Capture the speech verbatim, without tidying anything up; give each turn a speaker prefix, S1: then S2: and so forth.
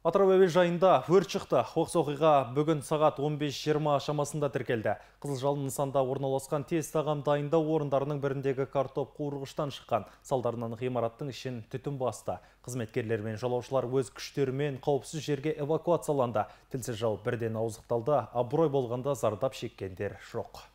S1: Атырау әуежайында өрт шықты. Оқыс оқиға бүгін сағат он бес жиырма шамасында тіркелді. Қызыл жалын нысанда орналасқан тез тағам дайындау орындарының біріндегі картоп қуырғыштан шыққан. Салдарынан ғимараттың ішін түтін басты. Қызметкерлер мен жолаушылар өз күштерімен қауіпсіз жерге эвакуацияланды. Тілсіз жау бірден ауыздықталды. Абырой болғанда зардап шеккендер жоқ.